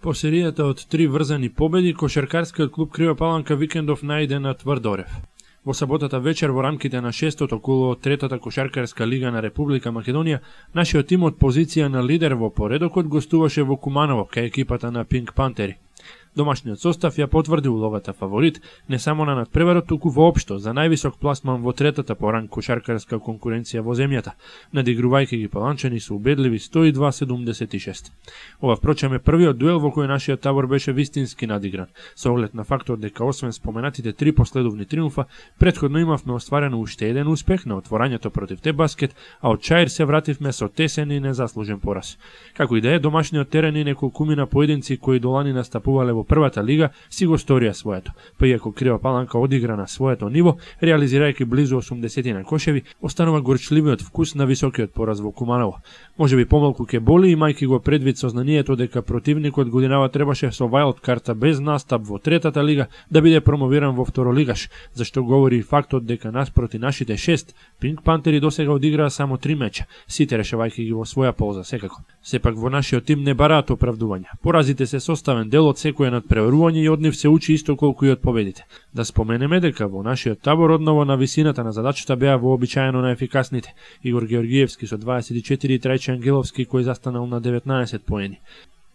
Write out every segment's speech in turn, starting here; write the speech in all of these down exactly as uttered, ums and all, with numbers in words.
По серијата од три врзани победи, кошаркарскиот клуб Крива Паланка викендов најде на Тврдорев. Во саботата вечер во рамките на шестото коло од третата кошаркарска лига на Република Македонија, нашиот тим од позиција на лидер во поредокот гостуваше во Куманово кај екипата на Пинк Пантери. Домашниот состав ја потврди улогата фаворит не само на надпреварот, туку воопшто за највисок пласман во третата по ранг кошаркарска конкуренција во земјата, надигрувајќи ги паланчани со убедливи сто и два седумдесет и шест. Ова впрочем е првиот дуел во кој нашиот табор беше вистински надигран, со оглед на фактот дека освен споменатите три последовни триумфа, претходно имавме остварено уште еден успех на отворањето против Тебаскет, а од Чаир се вративме со тесен и незаслужен пораз. Како и да е, домашниот терен и неколкумина поединци кои долани настапувале во првата лига си го сторија своето, па иако Крива Паланка одигра на своето ниво, реализирајќи близу осумдесет на кошеви, останува горчливиот вкус на високиот пораз во Куманово. Можеби помалку ќе боли, имајќи го предвид сознанието дека противникот годинава требаше со вајлд карта без настап во третата лига да биде промовиран во второлигаш, зашто говори фактот дека наспроти нашите шест, Пинк Пантери досега одиграа само три меча, сите решавајќи ги во своја полза секако. Сепак во нашиот тим не бараат оправдувања. Поразите се составен дел од секој надпреварување и од нив се учи исто колку и од победите. Да споменеме дека во нашиот табор одново на висината на задачата беа вообичаено најефикасните Игор Георгиевски со дваесет и четири и Трајче Ангеловски кој застанал на деветнаесет поени.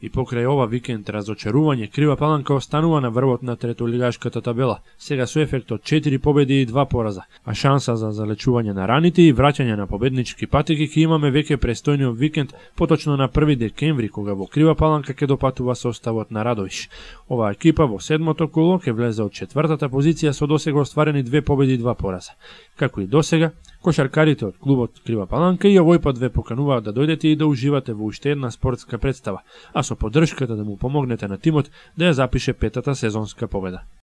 И покрај ова викенд разочарување, Крива Паланка останува на врвот на третолигашката табела, сега со ефект од четири победи и два пораза, а шанса за залечување на раните и враќање на победнички патеки ќе имаме веќе престојниот викенд, поточно на први декември, кога во Крива Паланка ќе допатува составот на Радовиш. Оваа екипа во седмото коло ќе влезе од четвртата позиција со досега остварени две победи и два пораза. Како и досега, кошаркарите од клубот Крива Паланка и овој пат ве покануваат да дојдете и да уживате во уште една спортска представа, а со поддршката да му помогнете на тимот да ја запише петата сезонска победа.